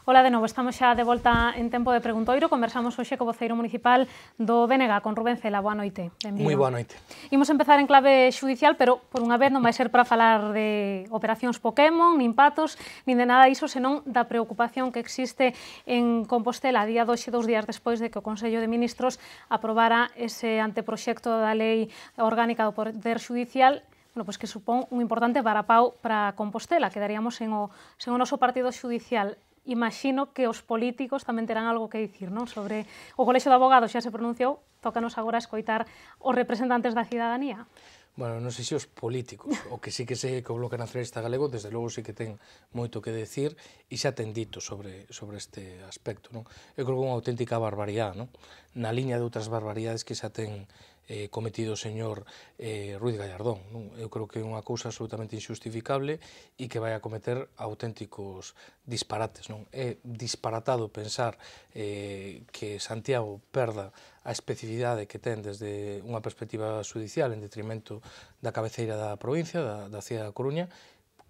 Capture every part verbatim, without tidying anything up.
Ola de novo, estamos xa de volta en tempo de preguntoiro. Conversamos hoxe co voceiro municipal do B N G, con Rubén Cela. Boa noite. Moi boa noite. Imos empezar en clave xudicial, pero por unha vez non vai ser para falar de operacións Pokémon, nin patos, nin de nada iso, senón da preocupación que existe en Compostela a día doxe, dous días despois de que o Consello de Ministros aprobara ese anteproxecto da Lei Orgánica do Poder Xudicial, bueno, pues que supón un importante varapau para Compostela. Quedaríamos sen o, sen o noso partido xudicial. Imagino que os políticos tamén terán algo que dicir, non? Sobre o Colexio de Abogados xa se pronunciou, tócanos agora escoitar os representantes da cidadanía. Bueno, non sei se os políticos, o que sí que sei que o Bloque Nacionalista Galego, desde logo sí que ten moito que decir e xa ten dito sobre, sobre este aspecto, non? Eu creo que é unha auténtica barbaridade, non? Na liña de outras barbaridades que xa ten eh, cometido o señor eh, Ruiz Gallardón, non? Eu creo que é unha cousa absolutamente injustificable e que vai a cometer auténticos disparates, non? É disparatado pensar eh, que Santiago perda a especificidade que ten desde unha perspectiva judicial en detrimento da cabeceira da provincia, da, da cidade da Coruña,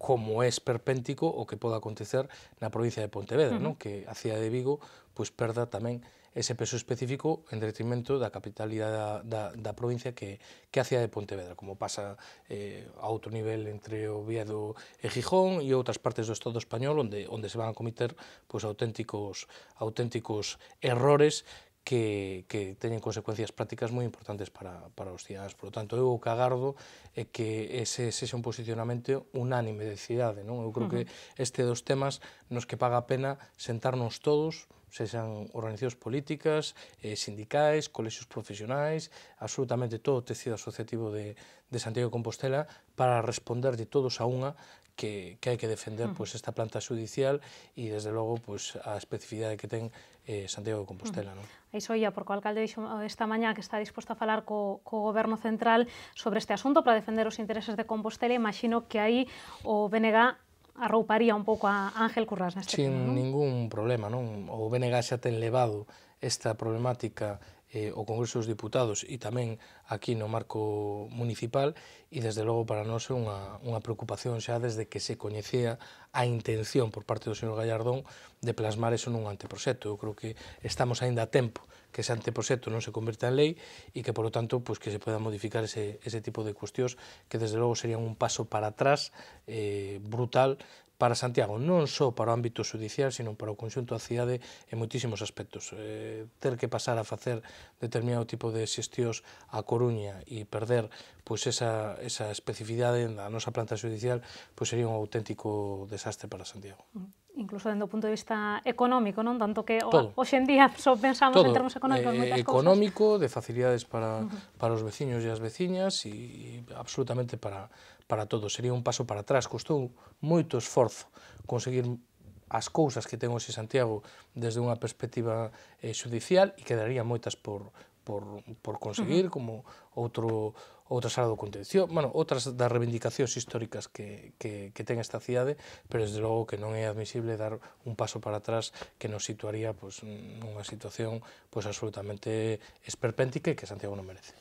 como é esperpéntico o que pode acontecer na provincia de Pontevedra, uh -huh. non? Que a cidade de Vigo pois, perda tamén ese peso específico en detrimento da capitalidade da, da, da provincia que, que a cidade de Pontevedra, como pasa eh, a outro nivel entre Oviedo e Gijón e outras partes do Estado español onde, onde se van a cometer pois, auténticos, auténticos errores que, que teñen consecuencias prácticas moi importantes para, para os cidadáns. Por lo tanto, eu o que agardo é que ese sexa un posicionamento unánime de cidade, non? Eu creo que este dos temas nos que paga a pena sentarnos todos, sexan organizacións políticas, eh, sindicais, colexios profesionais, absolutamente todo o tecido asociativo de, de Santiago de Compostela, para responder de todos a unha que, que hai que defender uh -huh. pues, esta planta judicial e, desde logo, pues, a especificidade que ten eh, Santiago de Compostela. Uh -huh. Non? Iso ia, porque o alcalde dixo esta mañá que está disposto a falar co, co Goberno Central sobre este asunto para defender os intereses de Compostela. Imagino que aí o B N G arrouparía un pouco a Ángel Currás neste Sin tema, non? ningún problema, non? O B N G xa ten levado esta problemática eh, o Congreso dos Diputados e tamén aquí no marco municipal e, desde logo, para nós é unha, unha preocupación xa desde que se coñecía a intención por parte do señor Gallardón de plasmar eso nun anteproxecto. Eu creo que estamos aínda a tempo que ese anteproxecto non se converta en lei e que, por lo tanto, pues, que se pueda modificar ese, ese tipo de cuestións que, desde logo, serían un paso para atrás eh, brutal para Santiago, non só para o ámbito judicial, sino para o conxunto da cidade en moitísimos aspectos. Eh, ter que pasar a facer determinado tipo de xestións a Coruña e perder pois, esa, esa especificidade da nosa planta judicial pois, sería un auténtico desastre para Santiago. Incluso dentro do punto de vista económico, non? Tanto que hoxe en día só pensamos Todo. en termos económicos eh, moitas cousas. Económico, de facilidades para, uh -huh. para os veciños e as veciñas e absolutamente para, para todos. Sería un paso para atrás. Costou moito esforzo conseguir as cousas que ten hoxe Santiago desde unha perspectiva eh, judicial e quedaría moitas por, por, por conseguir, uh -huh. como outro outra sala do contención, bueno, outras das reivindicacións históricas que, que, que ten esta cidade, pero desde logo que non é admisible dar un paso para atrás que nos situaría pues, nunha situación pues, absolutamente esperpéntica e que Santiago non merece.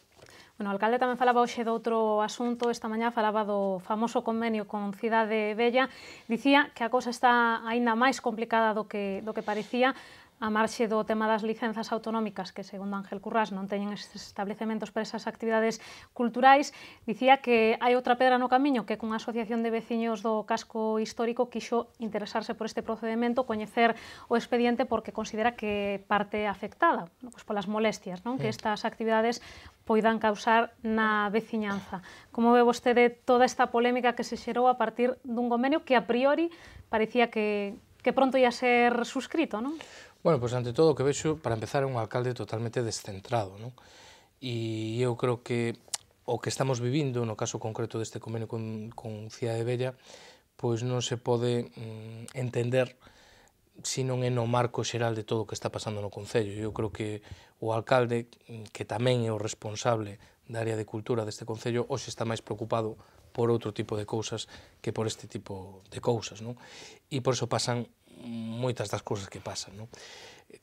Bueno, o alcalde tamén falaba hoxe de outro asunto, esta mañá falaba do famoso convenio con Cidade Vella, dicía que a cousa está aínda máis complicada do que, do que parecía, a marxe do tema das licenzas autonómicas, que, segundo Ángel Currás, non teñen estes establecementos para esas actividades culturais. Dicía que hai outra pedra no camiño, que cunha asociación de veciños do casco histórico quixo interesarse por este procedimento, coñecer o expediente, porque considera que parte afectada pois, polas molestias, non? Que estas actividades poidan causar na veciñanza. Como ve vostede toda esta polémica que se xerou a partir dun convenio que a priori parecía que, que pronto ia ser suscrito, non? Bueno, pois ante todo o que vexo, para empezar, é un alcalde totalmente descentrado, non? E eu creo que o que estamos vivindo, no caso concreto deste convenio con, con Cidade Vella, pois non se pode mm, entender se non é no marco xeral de todo o que está pasando no Concello. Eu creo que o alcalde, que tamén é o responsable da área de cultura deste Concello, hoxe está máis preocupado por outro tipo de cousas que por este tipo de cousas, non? E por iso pasan moitas das cousas que pasan, non?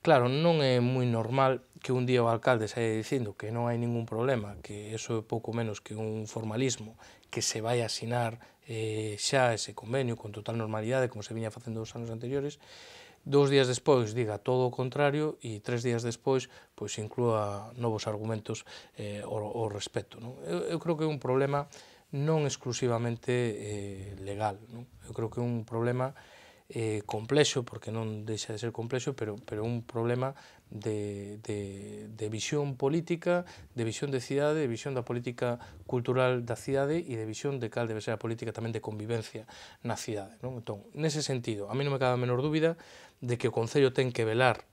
Claro, non é moi normal que un día o alcalde saia dicindo que non hai ningún problema, que eso é pouco menos que un formalismo, que se vai a asinar eh, xa ese convenio con total normalidade, como se viña facendo os anos anteriores, dous días despois diga todo o contrario e tres días despois pois inclúa novos argumentos eh, ao, ao respecto. Non? Eu, eu creo que é un problema non exclusivamente eh, legal, non? Eu creo que é un problema eh, complexo, porque non deixa de ser complexo, pero, pero un problema de, de, de visión política, de visión de cidade, de visión da política cultural da cidade e de visión de cal debe ser a política tamén de convivencia na cidade. Non? Entón, nese sentido, a mí non me cabe a menor dúbida de que o Concello ten que velar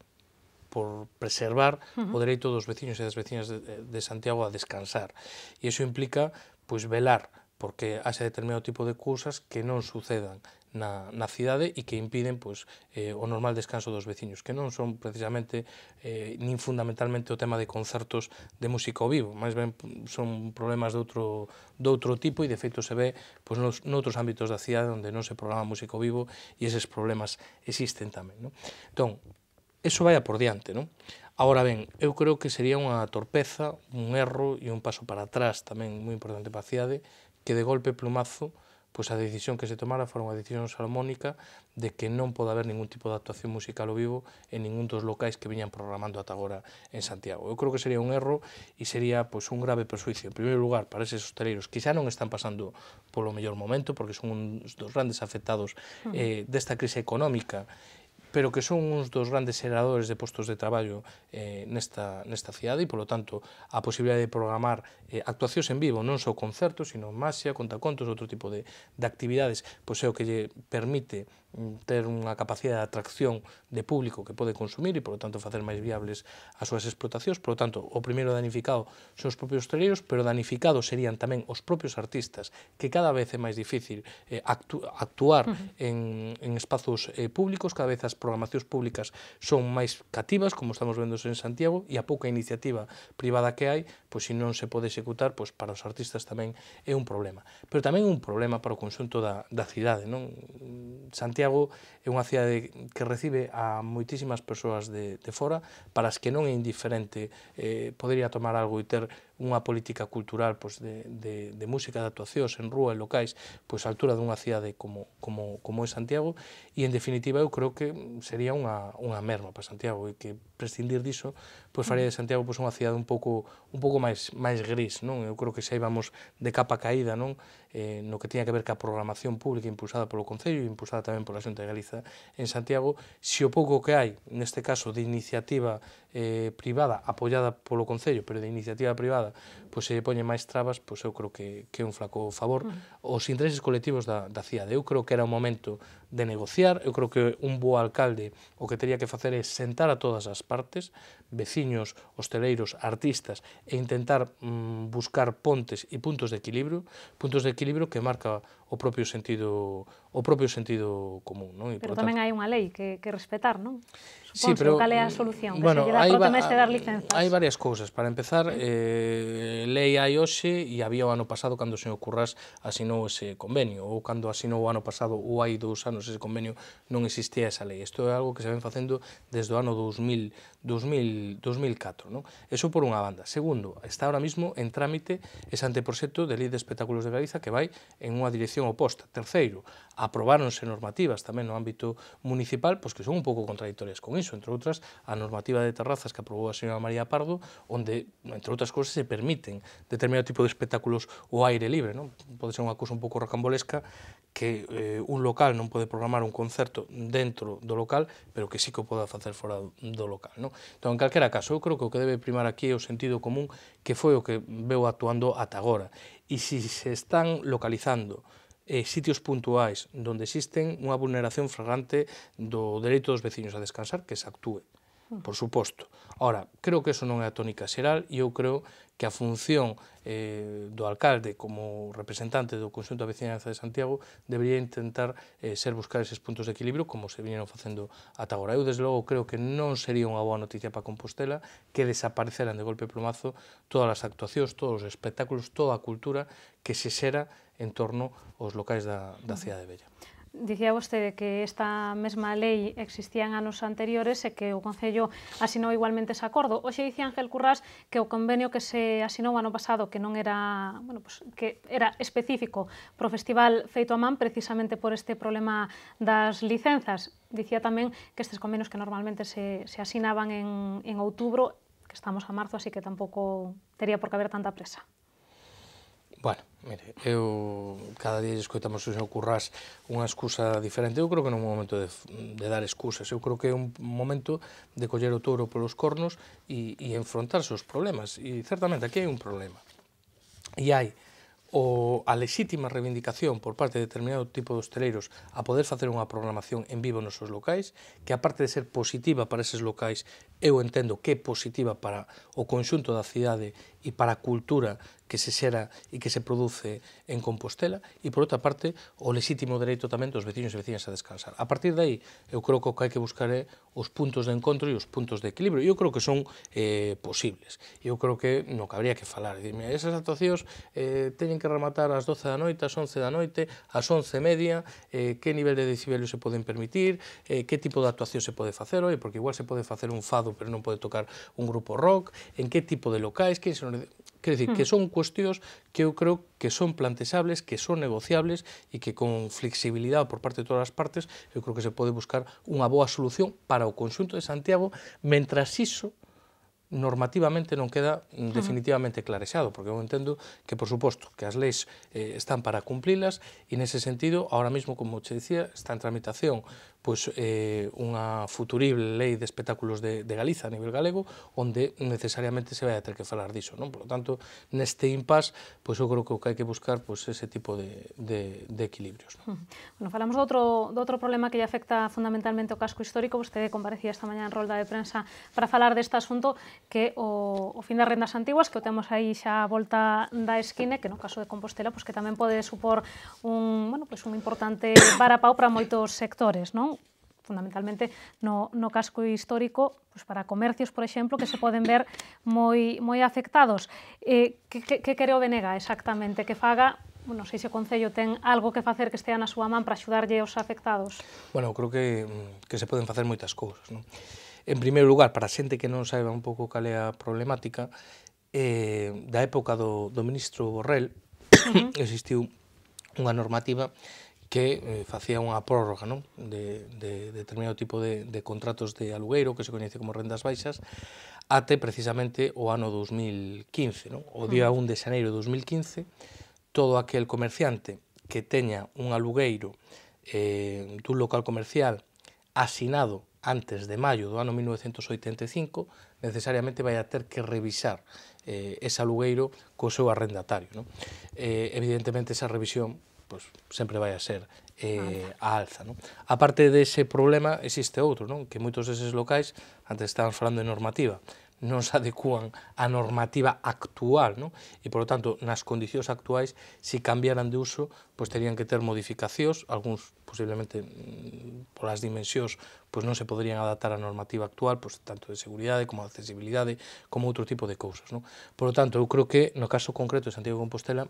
por preservar uh-huh. o dereito dos veciños e das veciñas de, de Santiago a descansar. E iso implica, pois, velar porque haxa determinado tipo de cousas que non sucedan na, na cidade e que impiden pois, eh, o normal descanso dos veciños, que non son precisamente eh, nin fundamentalmente o tema de concertos de música ao vivo, máis ben son problemas de outro, de outro tipo e de feito se ve pois, nos, noutros ámbitos da cidade onde non se programa música ao vivo e eses problemas existen tamén. Non? Entón, eso vai a por diante, non? Ahora ben, eu creo que sería unha torpeza, un erro e un paso para atrás tamén moi importante para a cidade, que de golpe plumazo pois a decisión que se tomara fora unha decisión salomónica de que non pode haber ningún tipo de actuación musical ao vivo en ningún dos locais que viñan programando ata agora en Santiago. Eu creo que sería un erro e sería pois, un grave persuicio, en primeiro lugar, para eses hosteleiros que xa non están pasando polo mellor momento, porque son uns dos grandes afectados eh, desta crise económica, pero que son uns dos grandes xeradores de postos de traballo eh, nesta, nesta cidade e, polo tanto, a posibilidade de programar eh, actuacións en vivo, non só concertos, sino maxia, contacontos, outro tipo de, de actividades, pois é o que lle permite ter unha capacidade de atracción de público que pode consumir e, por lo tanto, facer máis viables as súas explotacións. Por lo tanto, o primeiro danificado son os propios hosteleiros, pero danificados serían tamén os propios artistas, que cada vez é máis difícil eh, actu actuar uh -huh. en, en espazos eh, públicos, cada vez as programacións públicas son máis cativas, como estamos vendo en Santiago, e a pouca iniciativa privada que hai, pois se non se pode executar, pois para os artistas tamén é un problema. Pero tamén é un problema para o conxunto da, da cidade, non? Santiago é unha cidade que recibe a moitísimas persoas de, de fora, para as que non é indiferente eh, podería tomar algo e ter unha política cultural pois, de, de, de música, de actuacións en rúa e locais pois, a altura dunha cidade como, como, como é Santiago, e en definitiva eu creo que sería unha, unha merma para Santiago e que prescindir diso pois, faría de Santiago pois, unha cidade un pouco, un pouco máis, máis gris. Non? Eu creo que xa íbamos de capa caída non? Eh, no que tiña que ver ca programación pública impulsada polo Concello e impulsada tamén pola Xunta de Galiza en Santiago, se o pouco que hai, neste caso de iniciativa eh, privada apoiada polo Concello, pero de iniciativa privada pois se poñen máis trabas, pois eu creo que, que é un flaco favor aos intereses colectivos da, da cidade. Eu creo que era o momento de negociar, eu creo que un bo alcalde o que teria que facer é sentar a todas as partes, veciños, hosteleiros, artistas, e intentar mm, buscar pontes e puntos de equilibrio, puntos de equilibrio que marca o propio sentido o propio sentido común, non? E, pero por tamén tanto, hai unha lei que, que respetar, non? Sí, pero, cal é a solución? Que bueno, se lle dá hai, protemeste dar licenzas? Hai varias cousas. Para empezar, eh, lei hai hoxe e había o ano pasado cando o señor Currás asinou ese convenio, ou cando asinou o ano pasado ou hai dous anos ese convenio non existía esa lei. Isto é algo que se ven facendo desde o ano dous mil, dous mil, dous mil catro. Non? Eso por unha banda. Segundo, está ahora mismo en trámite ese anteproxecto de lei de espectáculos de Galiza que vai en unha dirección oposta. Terceiro, aprobáronse normativas tamén no ámbito municipal pois que son un pouco contradictorias con iso, entre outras, a normativa de terrazas que aprobou a señora María Pardo, onde, entre outras cousas, se permiten determinado tipo de espectáculos ao aire libre. Non? Pode ser unha cousa un pouco rocambolesca que eh, un local non pode programar un concerto dentro do local, pero que sí que o poda facer fora do local. Non? Entón, en calquera caso, eu creo que o que debe primar aquí é o sentido común, que foi o que veu actuando ata agora. E se se están localizando eh, sitios puntuais onde existen unha vulneración flagrante do dereito dos veciños a descansar, que se actúe, por suposto. Ora, creo que eso non é a tónica xeral e eu creo que a función eh, do alcalde como representante do conxunto da veciñanza de Santiago debería intentar eh, ser buscar eses puntos de equilibrio como se viñeron facendo ata agora. Eu, desde logo, creo que non sería unha boa noticia para Compostela que desapareceran de golpe plumazo todas as actuacións, todos os espectáculos, toda a cultura que se xera en torno aos locais da, da cidade vella. Dicía vostede que esta mesma lei existía en anos anteriores e que o Concello asinou igualmente ese acordo. Hoxe dicía Ángel Currás que o convenio que se asinou ano pasado, que non era, bueno, pues, que era específico para o festival feito a man precisamente por este problema das licenzas. Dicía tamén que estes convenios que normalmente se, se asinaban en, en outubro, que estamos a marzo, así que tampouco tería por que haber tanta presa. Bueno, mire, eu cada día escoitamos o señor Currás unha excusa diferente. Eu creo que non é un momento de, de dar excusas, eu creo que é un momento de coller o touro polos cornos e, e enfrontarse aos problemas, e certamente aquí hai un problema. E hai o, a lexítima reivindicación por parte de determinado tipo de hosteleiros a poder facer unha programación en vivo nos seus locais, que aparte de ser positiva para eses locais, eu entendo que é positiva para o conxunto da cidade e para a cultura que se xera e que se produce en Compostela, e por outra parte o lexítimo dereito tamén dos veciños e veciñas a descansar. A partir de aí, eu creo que o que hai que buscar é os puntos de encontro e os puntos de equilibrio. Eu creo que son eh, posibles. Eu creo que no que habría que falar. Dime, esas actuacións eh, teñen que rematar ás doce da noite, ás once da noite, ás once e media, eh, que nivel de decibelio se poden permitir, eh, que tipo de actuación se pode facer, oi, porque igual se pode facer un fado pero non pode tocar un grupo rock, en que tipo de locais, que se non... Quer dicir, que son cuestións que eu creo que son planteables, que son negociables e que con flexibilidade por parte de todas as partes eu creo que se pode buscar unha boa solución para o conxunto de Santiago, mentras iso normativamente non queda definitivamente clarexado, porque eu entendo que, por suposto, que as leis eh, están para cumplilas e, nese sentido, ahora mesmo, como che dicía, está en tramitación pois, eh, unha futurible lei de espectáculos de, de Galiza a nivel galego, onde necesariamente se vai a ter que falar diso, non? Por lo tanto, neste impas, pois eu creo que o que hai que buscar pois, ese tipo de, de, de equilibrios. Non? Bueno, falamos de outro, de outro problema que lle afecta fundamentalmente o casco histórico. Vostede comparecía esta mañá en rolda de prensa para falar deste asunto, que o, o fin das rendas antiguas, que o temos aí xa a volta da esquina, que no caso de Compostela, pois que tamén pode supor un, bueno, pois un importante varapau para moitos sectores, non? Fundamentalmente no, no casco histórico, pois para comercios, por exemplo, que se poden ver moi, moi afectados. Eh, que, que, que quere o B N G exactamente? Que faga, bueno, sei se o Concello ten algo que facer que estea na súa man para axudarlle aos afectados? Bueno, creo que, que se poden facer moitas cousas, non? En primeiro lugar, para a xente que non saiba un pouco cal é a problemática, eh, da época do, do ministro Borrell, uh-huh. existiu unha normativa que eh, facía unha prórroga, non? De, de, de determinado tipo de, de contratos de alugueiro, que se coñece como rendas baixas, até precisamente o ano dos mil quince, non? O día un de xaneiro de dos mil quince, todo aquel comerciante que teña un alugueiro eh, dun local comercial asinado antes de maio do ano mil novecentos oitenta e cinco, necesariamente vai a ter que revisar eh, ese alugueiro co seu arrendatario, non? Eh, evidentemente, esa revisión pois, sempre vai a ser eh, a alza. Non? A parte dese problema, existe outro, non? Que moitos deses locais, antes estábamos falando de normativa, non se adecúan á normativa actual, non? E, por lo tanto, nas condicións actuais, se cambiaran de uso, pois terían que ter modificacións, algúns, posiblemente, polas dimensións, pois non se poderían adaptar á normativa actual, pois tanto de seguridade como de accesibilidade, como outro tipo de cousas, non? Por lo tanto, eu creo que, no caso concreto de Santiago de Compostela,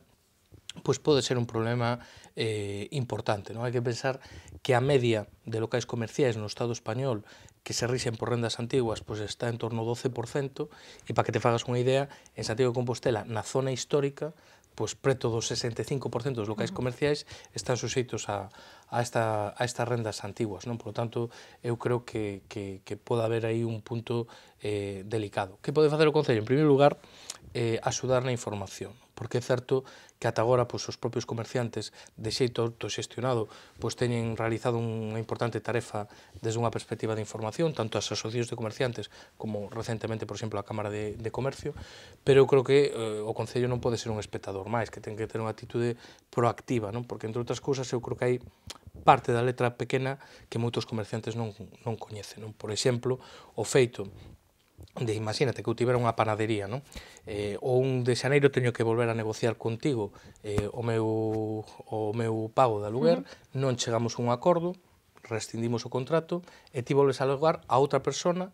pois pode ser un problema eh, importante. Non? Hai que pensar que a media de locais comerciais no Estado español que se rixen por rendas antiguas pois está en torno ao doce por cento, e para que te fagas unha idea, en Santiago de Compostela, na zona histórica, pois preto do sesenta e cinco por cento dos locais comerciais están suxeitos a, a, esta, a estas rendas antiguas. Non? Por lo tanto, eu creo que, que, que pode haber aí un punto eh, delicado. Que pode facer o Concello? En primeiro lugar, eh, axudar na información, porque é certo que ata agora pois, os propios comerciantes de xeito autoxestionado pois, teñen realizado unha importante tarefa desde unha perspectiva de información, tanto as asociacións de comerciantes como recentemente, por exemplo, a Cámara de, de Comercio, pero eu creo que eh, o Concello non pode ser un espectador máis, que ten que ter unha actitude proactiva, non? Porque, entre outras cousas, eu creo que hai parte da letra pequena que moitos comerciantes non, non coñecen. Non? Por exemplo, o feito de, imagínate, que eu tivera unha panadería, non? Eh, o un de xaneiro teño que volver a negociar contigo eh, o, meu, o meu pago de aluguer, uh-huh. non chegamos a un acordo, rescindimos o contrato, e ti volves a alugar a outra persona,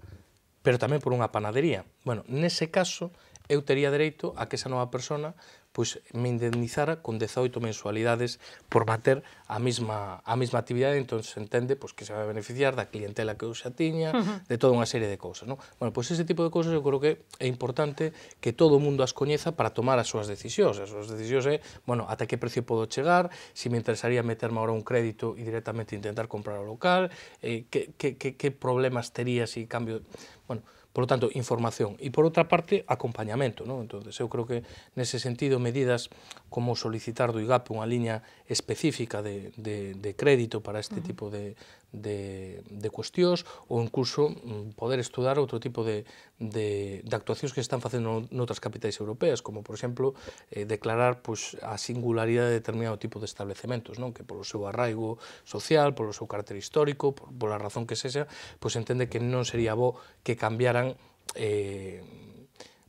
pero tamén por unha panadería. Bueno, nese caso, eu tería dereito a que esa nova persona pois me indemnizara con dezoito mensualidades por manter a mesma, a mesma actividade, entón se entende pois, que se vai beneficiar da clientela que eu xa tiña, de toda unha serie de cousas. Non? Bueno, pois ese tipo de cousas eu creo que é importante que todo o mundo as coñeza para tomar as súas decisións. As súas decisións é, bueno, ata que precio podo chegar, se me interesaría meterme agora un crédito e directamente intentar comprar o local, eh, que, que, que, que problemas tería se cambio... Bueno, por lo tanto, información. E, por outra parte, acompañamento. Non? Entón, eu creo que, nese sentido, medidas como solicitar do I G A P unha liña específica de, de, de crédito para este tipo de, de, de cuestións, ou incluso poder estudar outro tipo de, de, de actuacións que están facendo noutras capitais europeas, como, por exemplo, eh, declarar pues, a singularidade de determinado tipo de establecementos, non? Que polo seu arraigo social, polo seu carácter histórico, por, pola razón que sexa, pues entende que non sería bo que cambiaran eh,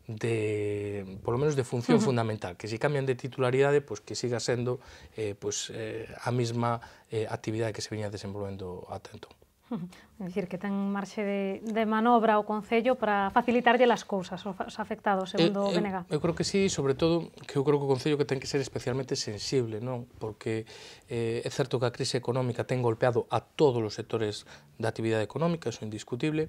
de, por lo menos de función uh -huh. fundamental, que se cambian de titularidade, pues que siga sendo eh, pues, eh, a mesma eh, actividade que se veña desenvolvendo ata entón. É dicir, que ten marxe de, de manobra o Concello para facilitarlle as cousas aos afectados, segundo o B N G. Eu, eu creo que sí, sobre todo, que eu creo que o Concello que ten que ser especialmente sensible, non? Porque eh, é certo que a crise económica ten golpeado a todos os sectores da actividade económica, eso é indiscutible,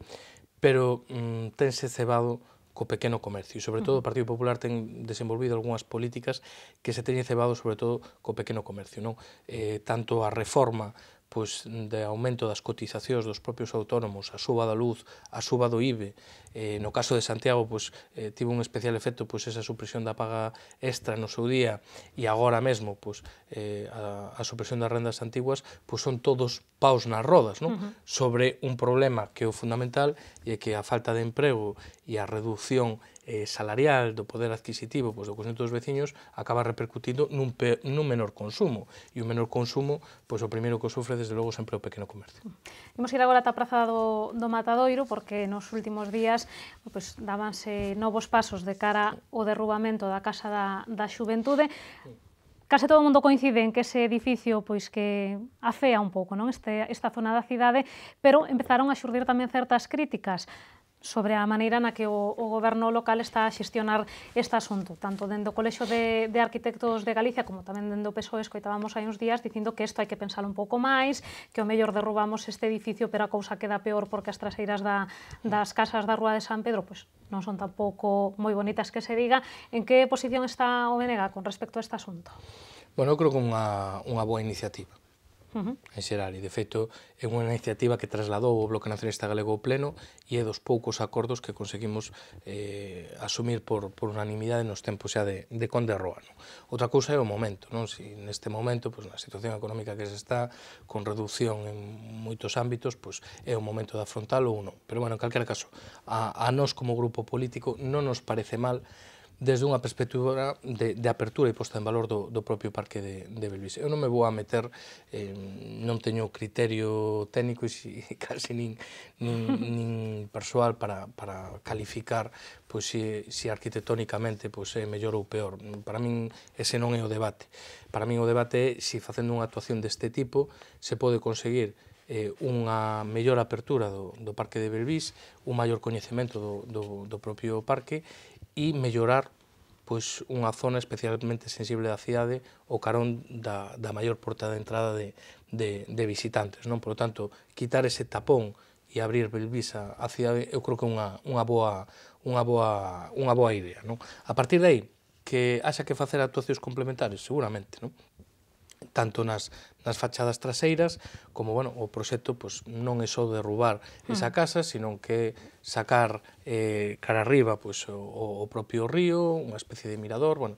pero mm, tense cebado co pequeno comercio, e sobre todo o Partido Popular ten desenvolvido algunhas políticas que se teñen cebado sobre todo co pequeno comercio, non? Eh, tanto a reforma pois, de aumento das cotizacións dos propios autónomos, a suba da luz, a suba do I B E, eh, no caso de Santiago pois, eh, tivo un especial efecto pois, esa supresión da paga extra no seu día, e agora mesmo pois, eh, a, a supresión das rendas antiguas, pois, son todos paus nas rodas, non? Uh -huh. Sobre un problema que é o fundamental, e que a falta de emprego e a reducción eh, salarial do poder adquisitivo pois, do conxunto dos veciños acaba repercutindo nun, pe, nun menor consumo, e o menor consumo, pois, o primeiro que o sufre desde logo sempre o pequeno comercio. Imos ir agora ata a Praza do, do Matadoiro, porque nos últimos días pois, dábanse novos pasos de cara ao derrubamento da Casa da, da Xuventude. Case todo o mundo coincide en que ese edificio pois que afea un pouco, non? Este, esta zona da cidade, pero empezaron a xurdir tamén certas críticas sobre a maneira na que o, o goberno local está a xestionar este asunto, tanto dende o Colexio de, de Arquitectos de Galicia como tamén dende o P S O E. Escoitábamos hai uns días dicindo que isto hai que pensalo un pouco máis, que o mellor derrubamos este edificio, pero a cousa queda peor porque as traseiras da, das casas da Rúa de San Pedro pois, non son tampouco moi bonitas que se diga. En que posición está o B N G con respecto a este asunto? Bueno, eu creo que unha, unha boa iniciativa. Uh -huh. En xeral, e de feito é unha iniciativa que trasladou o Bloque Nacionalista Galego ao Pleno e é dos poucos acordos que conseguimos eh, asumir por, por unanimidade nos tempos xa de, de Conde Roa. Non? Outra cousa é o momento, non? Si neste momento, pois, na situación económica que se está, con reducción en moitos ámbitos, pois, é o momento de afrontalo ou non. Pero, bueno, en calquera caso, a, a nós como grupo político non nos parece mal desde unha perspectiva de, de apertura e posta en valor do, do propio Parque de, de Belvís. Eu non me vou a meter, eh, non teño criterio técnico e si, casi nin, nin, nin persoal para, para calificar pois, si, si arquitectónicamente pois, é mellor ou peor. Para min ese non é o debate. Para min o debate é si facendo unha actuación deste tipo se pode conseguir eh, unha mellor apertura do, do Parque de Belvís, un maior coñecemento do, do, do propio parque e mellorar pois, unha zona especialmente sensible da cidade o carón da, da maior porta de entrada de, de, de visitantes. Non? Por lo tanto, quitar ese tapón e abrir Belvís a, a cidade, eu creo que é unha, unha, boa, unha, boa, unha boa idea. Non? A partir de aí, que haxa que facer actuacións complementarias, seguramente, non? Tanto nas, nas fachadas traseiras, como, bueno, o proxecto pois, non é só derrubar esa casa, sino que sacar eh, cara arriba pois, o, o propio río, unha especie de mirador, bueno,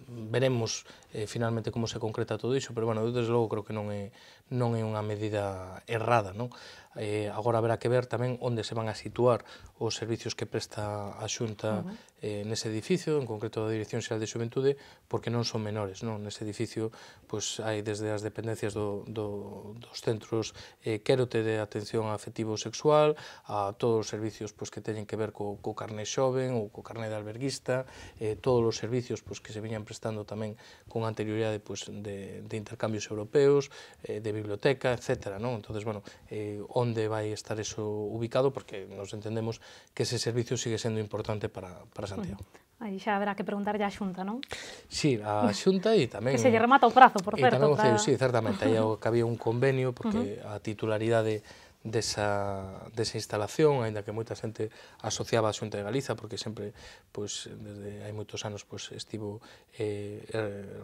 veremos eh, finalmente como se concreta todo iso, pero, bueno, desde logo creo que non é, non é unha medida errada, non? Eh, agora haberá que ver tamén onde se van a situar os servicios que presta a Xunta uh -huh. eh, nese edificio, en concreto da Dirección Xeral de Xuventude, porque non son menores, non? Nese edificio pois, hai desde as dependencias do, do, dos centros eh, Quérote de atención afectivo sexual, a todos os servicios pois, que teñen que ver co, co carné xoven ou co carné de alberguista, eh, todos os servicios pois, que se viñan prestando tamén con anterioridade pois, de, de intercambios europeos, eh, de biblioteca, etcétera. Non? Entonces, bueno, eh, onde vai estar eso ubicado, porque nos entendemos que ese servicio sigue sendo importante para, para Santiago. Aí xa haberá que preguntarlle á Xunta, non? Sí, a Xunta e tamén... Que se lle remata o prazo, por certo. E tamén o Concello, sí, certamente. Aí había un convenio, porque a titularidade desa, desa instalación, aínda que moita xente asociaba a Xunta de Galiza, porque sempre, pois, desde hai moitos anos, pois, estivo eh,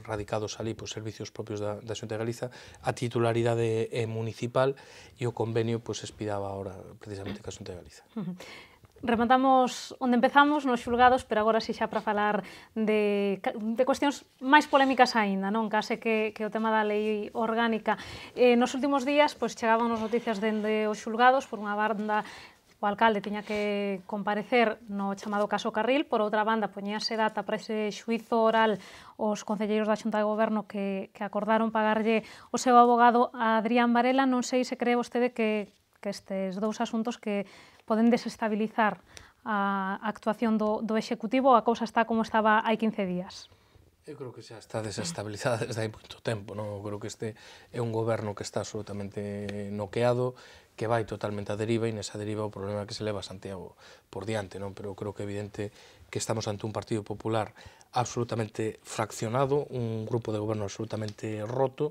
radicados ali, pois, servicios propios da, da Xunta de Galiza, a titularidade é municipal e o convenio, pois, expiraba ahora, precisamente, ca Xunta de Galiza. Rematamos onde empezamos, nos xulgados, pero agora si xa para falar de, de cuestións máis polémicas aínda, non? Case que, que o tema da lei orgánica. Eh, nos últimos días, pois, chegaban nos noticias dende os xulgados, por unha banda, o alcalde tiña que comparecer no chamado caso Carril, por outra banda, poñíase data para ese xuizo oral os concelleiros da Xunta de Goberno que, que acordaron pagarlle o seu abogado a Adrián Varela. Non sei se cree vostede que, que estes dous asuntos que poden desestabilizar a actuación do, do Executivo, a cousa está como estaba hai quince días. Eu creo que xa está desestabilizada desde hai moito tempo, non? Eu creo que este é un goberno que está absolutamente noqueado, que vai totalmente a deriva, e nesa deriva o problema é que se leva a Santiago por diante, non? Pero eu creo que é evidente que estamos ante un Partido Popular absolutamente fraccionado, un grupo de goberno absolutamente roto,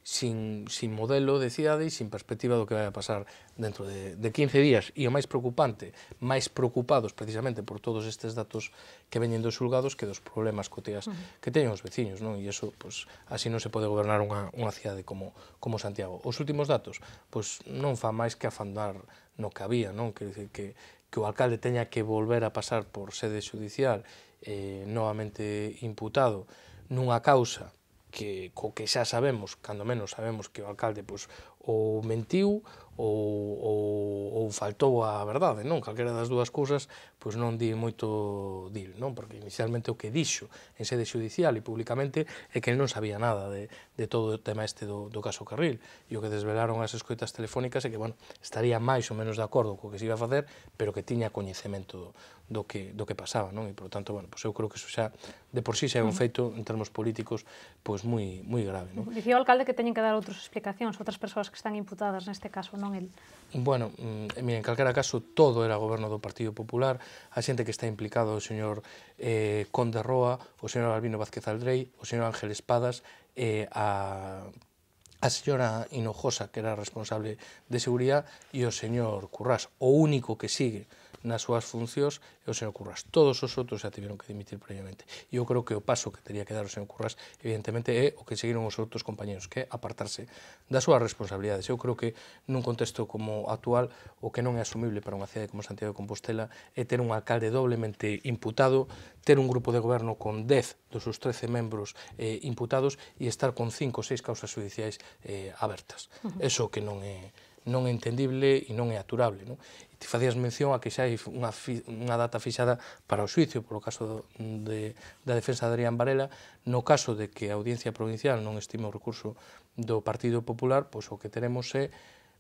sin, sin modelo de cidade e sin perspectiva do que vai a pasar dentro de, de quince días. E o máis preocupante, máis preocupados precisamente por todos estes datos que veñen dos xulgados que dos problemas cotiás que teñen os veciños, non? E iso, pois, así non se pode gobernar unha, unha cidade como, como Santiago. Os últimos datos, pois, non fa máis que afandar no que había, non? Que, que, que o alcalde teña que volver a pasar por sede judicial eh, novamente imputado nunha causa que co que xa sabemos, cando menos sabemos que o alcalde pois, ou mentiu ou, ou, ou faltou a verdade, non? Calquera das dúas cousas pois non di moito dil, non? Porque inicialmente o que dixo en sede judicial e públicamente é que non sabía nada de, de todo o tema este do, do caso Carril, e o que desvelaron as escoitas telefónicas é que, bueno, estaría máis ou menos de acordo co que se iba a facer, pero que tiña coñecemento do, do que, do que pasaba, non? E, por tanto, bueno, pois eu creo que iso xa, de por sí, xa é un feito, en termos políticos, pois moi, moi grave, non? Dicía o alcalde que teñen que dar outras explicacións, outras persoas que están imputadas neste caso, non el. Bueno, en calquera caso, todo era goberno do Partido Popular, a xente que está implicado, o señor eh, Conde Roa, o señor Albino Vázquez Aldrei, o señor Ángel Espadas, eh, a... a señora Hinojosa, que era responsable de seguridade, e o señor Currás. O único que sigue nas súas funcións é o señor Currás. Todos os outros xa tiveron que dimitir previamente. E eu creo que o paso que teria que dar o señor Currás, evidentemente, é o que seguiron os outros compañeros, que é apartarse das súas responsabilidades. Eu creo que nun contexto como actual, o que non é asumible para unha cidade como Santiago de Compostela é ter un alcalde doblemente imputado, ter un grupo de goberno con dez dos seus trece membros eh, imputados e estar con cinco ou seis causas judiciais eh, abertas. Eso que non é non é entendible e non é aturable, non? E te facías mención a que xa hai unha, fi, unha data fixada para o xuicio polo caso de, da defensa de Adrián Varela. No caso de que a Audiencia Provincial non estime o recurso do Partido Popular, pois o que teremos é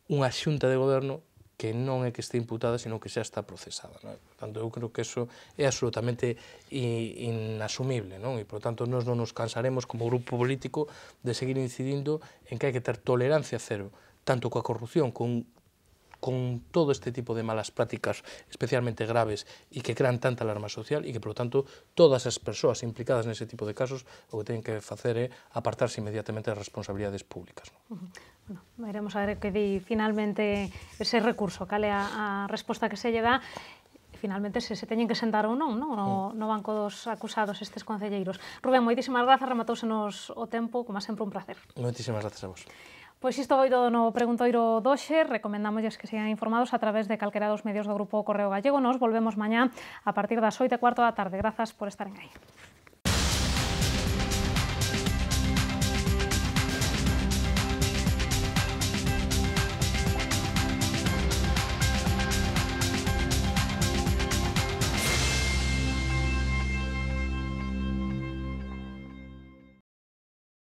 unha xunta de goberno que non é que este imputada, sino que xa está procesada, non? Por tanto, eu creo que eso é absolutamente inasumible, non? E, por tanto, nós non nos cansaremos como grupo político de seguir incidindo en que hai que ter tolerancia cero, tanto coa corrupción, con, con todo este tipo de malas prácticas especialmente graves e que crean tanta alarma social, e que, por tanto, todas as persoas implicadas nese tipo de casos o que teñen que facer é apartarse inmediatamente das responsabilidades públicas, non? Uh-huh. Bueno, veremos a ver que di finalmente ese recurso, cale a, a resposta que se lle dá, finalmente se se teñen que sentar ou non, non? No, no banco dos acusados estes concelleiros. Rubén, moitísimas grazas, rematousenos o tempo, como sempre un placer. Moitísimas grazas a vos. Pois isto foi todo no Preguntoiro doxe, recomendámosles que sigan informados a través de calquera dos medios do Grupo Correo Gallego. Nos volvemos mañá a partir das oito e cuarto da tarde. Grazas por estaren aí.